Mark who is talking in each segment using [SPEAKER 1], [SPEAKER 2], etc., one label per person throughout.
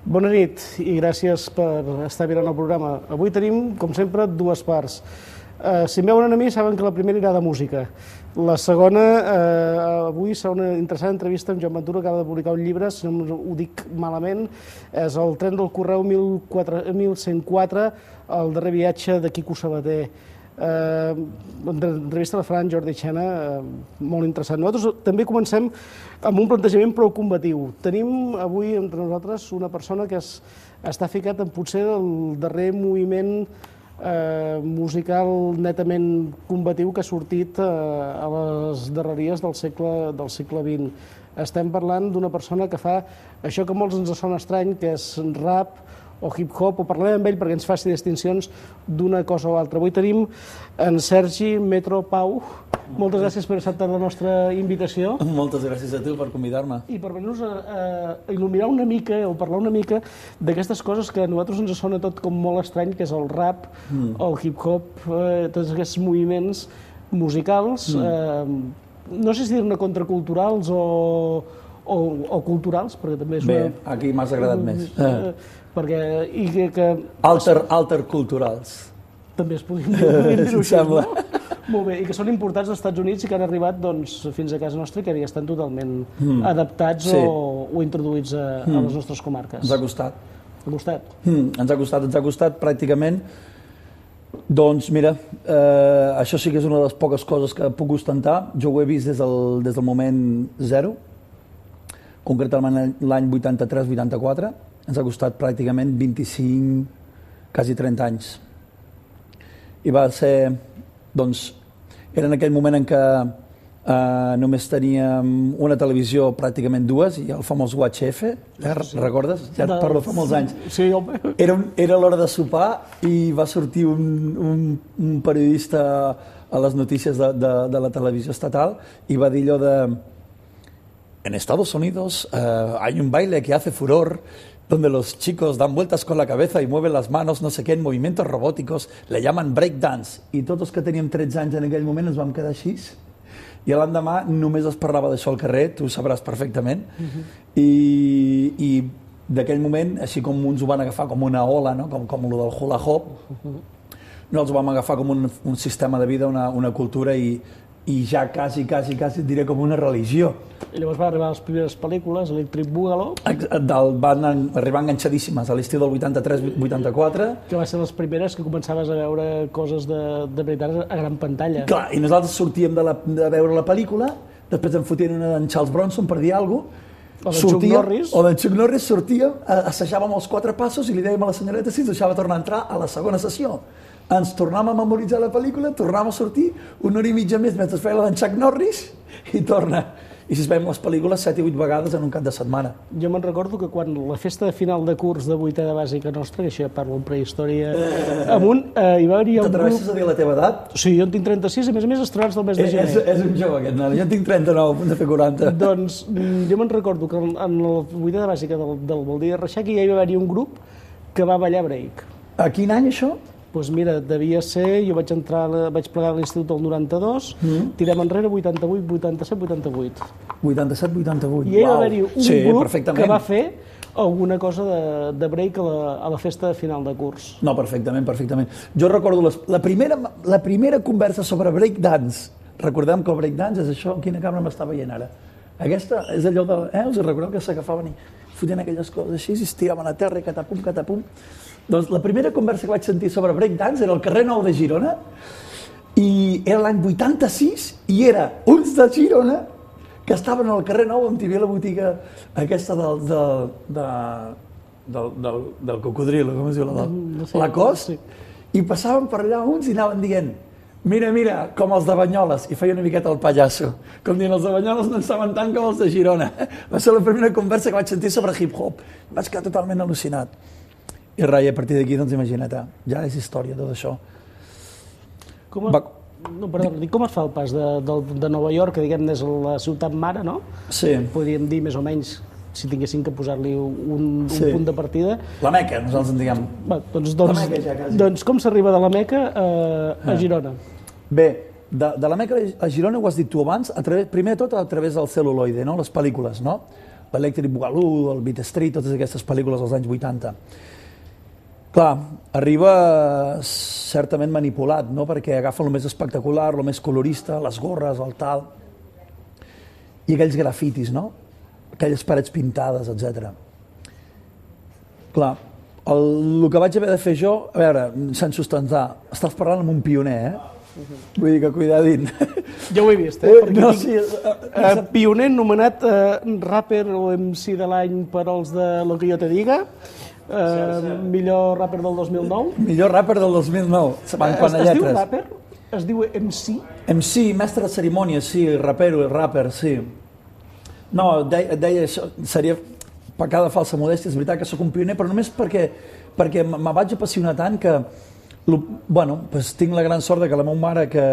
[SPEAKER 1] Bona nit i gràcies per estar mirant el programa. Avui tenim, com sempre, dues parts. Si em veuen a mi, saben que la primera irà de música. La segona, avui serà una interessant entrevista amb Joan Ventura, que acaba de publicar un llibre, si no ho dic malament, és El tren del correu 1104, el darrer viatge de Quico Sabater. L'entrevista la farà en Jordi Xena, molt interessant. Nosaltres també comencem amb un plantejament prou combatiu. Tenim avui entre nosaltres una persona que està ficat en potser el darrer moviment musical netament combatiu que ha sortit a les darreries del segle XX. Estem parlant d'una persona que fa això que a molts ens sona estrany, que és rap o hip-hop, o parlarem amb ell perquè ens faci distincions d'una cosa o altra. Avui tenim en Sergi Metro Pau. Moltes gràcies per acceptar la nostra invitació.
[SPEAKER 2] Moltes gràcies a tu per convidar-me.
[SPEAKER 1] I per venir-nos a il·luminar una mica, o parlar una mica d'aquestes coses que a nosaltres ens sona tot com molt estrany, que és el rap, el hip-hop, tots aquests moviments musicals, no sé si dir-ne contraculturals o culturals, perquè també és
[SPEAKER 2] una... Bé, aquí m'has agradat més. Alterculturals.
[SPEAKER 1] També es podien dir-ho així, no? Molt bé, i que són importats als Estats Units i que han arribat fins a casa nostra i que ja estan totalment adaptats o introduïts a les nostres comarques.
[SPEAKER 2] Ens ha costat.
[SPEAKER 1] Ha costat?
[SPEAKER 2] Ens ha costat pràcticament. Doncs mira, això sí que és una de les poques coses que puc ostentar. Jo ho he vist des del moment zero, concretament l'any 83-84. Ens ha costat pràcticament 25, quasi 30 anys. I va ser, doncs, era en aquell moment en què només teníem una televisió, pràcticament dues, i el famós UHF, recordes? Ja et parlo fa molts anys.
[SPEAKER 1] Sí, home.
[SPEAKER 2] Era l'hora de sopar i va sortir un periodista a les notícies de la televisió estatal i va dir allò de en Estados Unidos hay un baile que hace furor donde los chicos dan vueltas con la cabeza y mueven las manos, no sé qué, en movimientos robóticos, le llaman breakdance. I tots els que teníem 13 anys en aquell moment ens vam quedar així. I l'endemà només es parlava d'això al carrer, tu ho sabràs perfectament. I d'aquell moment, així com uns ho van agafar com una ola, no? com el del hula hoop, nosaltres ho vam agafar com un sistema de vida, una cultura i ja quasi diré com una religió.
[SPEAKER 1] I llavors van arribar les primeres pel·lícules, Electric Boogaloo.
[SPEAKER 2] Van arribar enganxadíssimes a l'estiu del 83-84.
[SPEAKER 1] Que va ser les primeres que començaves a veure coses de veritat a gran pantalla.
[SPEAKER 2] Clar, i nosaltres sortíem de veure la pel·lícula, després en fotien una d'en Charles Bronson, per dir alguna cosa, o d'en Chuck Norris, sortíem, assajàvem els 4 passos i li dèiem a la senyoreta si ens deixava tornar a entrar a la segona sessió. Ens tornàvem a memoritzar la pel·lícula, tornàvem a sortir una hora i mitja més mentre feia la d'en Chuck Norris i torna. I si es veiem les pel·lícules 7 i 8 vegades en un cap de setmana.
[SPEAKER 1] Jo me'n recordo que quan la festa de final de curs de vuitè de bàsica nostra, que això ja parlo en prehistòria amunt, hi va haver...
[SPEAKER 2] T'atreveixes a dir la teva edat?
[SPEAKER 1] Sí, jo en tinc 36, a més estrenats del mes de gener.
[SPEAKER 2] És un jove aquest, jo en tinc 39, a punt de fer 40.
[SPEAKER 1] Doncs jo me'n recordo que en el vuitè de bàsica del Baldí de Reixac ja hi va haver un grup que va ballar break.
[SPEAKER 2] A quin any això?
[SPEAKER 1] Doncs mira, devia ser, jo vaig plegar a l'institut del 92, tirem enrere 88, 87, 88.
[SPEAKER 2] 87, 88,
[SPEAKER 1] I hi va haver-hi un grup que va fer alguna cosa de break a la festa de final de curs.
[SPEAKER 2] No, perfectament. Jo recordo la primera conversa sobre breakdance. Recordem que el breakdance és això, quina càmera m'està veient ara? Aquesta és allò de... us recordeu que s'agafaven i fotien aquelles coses així i es tiraven a terra i catapum. Doncs la primera conversa que vaig sentir sobre breakdance era al carrer Nou de Girona i era l'any 86 i era uns de Girona que estaven al carrer Nou on hi havia la botiga aquesta del cocodrilo, com es diu? La Cos, i passaven per allà uns i anaven dient mira, com els de Banyoles, i feia una miqueta el pallasso, com dient els de Banyoles no en saben tant com els de Girona. Va ser la primera conversa que vaig sentir sobre hip-hop. Vaig quedar totalment al·lucinat. I rai, a partir d'aquí, doncs imagina't, ja és història tot això.
[SPEAKER 1] Com es fa el pas de Nova York, que diguem és la ciutat mare, no?
[SPEAKER 2] Sí.
[SPEAKER 1] Podríem dir més o menys, si tinguéssim que posar-li un punt de partida.
[SPEAKER 2] La Meca, nosaltres en diguem.
[SPEAKER 1] La Meca ja quasi. Doncs com s'arriba de la Meca a Girona?
[SPEAKER 2] Bé, de la Meca a Girona, ho has dit tu abans, primer de tot a través del cel·luloide, no? Les pel·lícules, no? l'Electric Boogaloo, el Beat Street, totes aquestes pel·lícules dels anys 80. Clar, arriba certament manipulat, no? Perquè agafa el més espectacular, el més colorista, les gorres, el tal, i aquells grafitis, no? Aquelles parets pintades, etc. Clar, el que vaig haver de fer jo, a veure, sense ostentar, estàs parlant amb un pioner, Vull dir que cuidadín.
[SPEAKER 1] Ja ho he vist,
[SPEAKER 2] No, sí,
[SPEAKER 1] pioner nomenat rapper o MC de l'any per als de Lo que yo te diga, millor rapper del 2009.
[SPEAKER 2] Millor rapper del 2009,
[SPEAKER 1] es diu rapper? Es diu MC?
[SPEAKER 2] MC, mestre de cerimònies, sí, rapper, sí. No, deia això, seria pecada falsa modèstia, és veritat que sóc un pioner, però només perquè me vaig apassionar tant que tinc la gran sort que la meva mare, que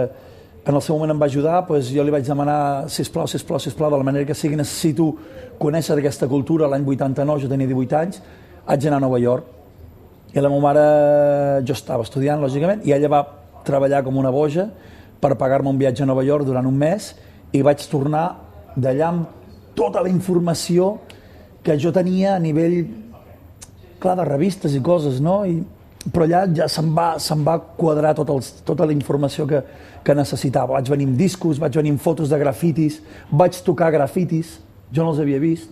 [SPEAKER 2] en el seu moment em va ajudar, jo li vaig demanar, sisplau, de la manera que sigui, necessito conèixer aquesta cultura. L'any 89, jo tenia 18 anys, haig d'anar a Nova York. I la meva mare, jo estava estudiant, lògicament, i ella va treballar com una boja per pagar-me un viatge a Nova York durant un mes, i vaig tornar d'allà amb tota la informació que jo tenia a nivell, clar, de revistes i coses, no? Però allà ja se'm va quadrar tota la informació que necessitava. Vaig venir amb discos, vaig venir amb fotos de grafitis, vaig tocar grafitis, jo no els havia vist,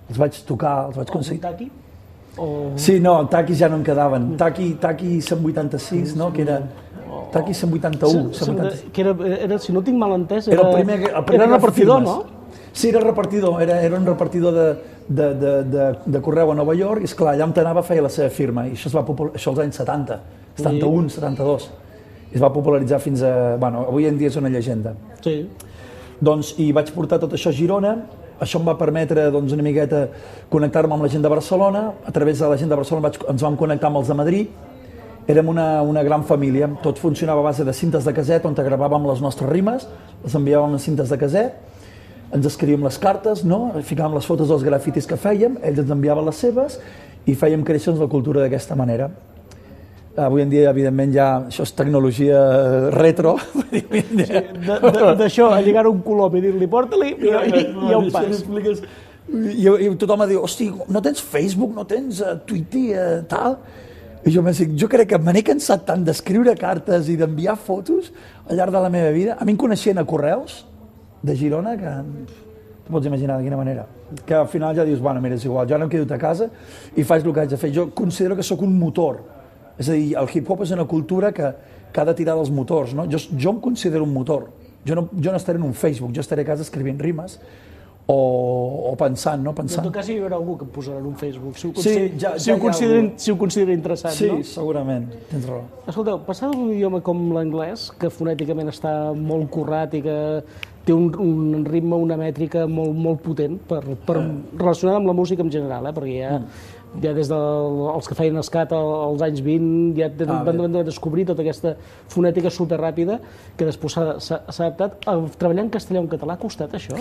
[SPEAKER 2] els vaig tocar, els vaig aconseguir.
[SPEAKER 1] Taki?
[SPEAKER 2] Sí, no, taquis ja no en quedaven. Taqui 186, no? Que era Taqui 181.
[SPEAKER 1] Si no tinc mal entès,
[SPEAKER 2] era
[SPEAKER 1] repartidor, no?
[SPEAKER 2] Sí, era repartidor, era un repartidor de correu a Nova York, i esclar, allà on t'anava feia la seva firma, i això als anys 70, 71, 72. I es va popularitzar fins a... avui en dia és una llegenda.
[SPEAKER 1] Sí.
[SPEAKER 2] Doncs, i vaig portar tot això a Girona, això em va permetre una miqueta connectar-me amb la gent de Barcelona, a través de la gent de Barcelona ens vam connectar amb els de Madrid, érem una gran família, tot funcionava a base de cintes de caset, on gravàvem les nostres rimes, les enviàvem en cintes de caset, ens escrivíem les cartes, no? Ficàvem les fotos dels grafitis que fèiem, ells ens enviaven les seves i fèiem créixer la cultura d'aquesta manera. Avui en dia, evidentment, ja això és tecnologia retro.
[SPEAKER 1] D'això, a lligar un colom i dir-li porta-li, i on pas.
[SPEAKER 2] I tothom diu, hosti, no tens Facebook, no tens Twitter, tal? I jo crec que me n'he cansat tant d'escriure cartes i d'enviar fotos al llarg de la meva vida. A mi em coneixien a correus de Girona, que tu pots imaginar de quina manera, que al final ja dius, mira, és igual, jo ara em quedo a casa i faig el que haig de fer. Jo considero que sóc un motor, és a dir, el hip-hop és una cultura que ha de tirar dels motors, no? Jo em considero un motor, jo no estaré en un Facebook, jo estaré a casa escrivint rimes o pensant, no?
[SPEAKER 1] En tot cas hi haurà algú que em posarà en un Facebook, si ho considera interessant, no?
[SPEAKER 2] Sí, segurament, tens raó.
[SPEAKER 1] Escolteu, passar d'un idioma com l'anglès, que fonèticament està molt currat i que té un ritme, una mètrica molt potent relacionada amb la música en general, perquè ja des dels que feien escat als anys 20 ja van descobrir tota aquesta fonètica superràpida que després s'ha adaptat. Treballar en castellà o en català ha costat això?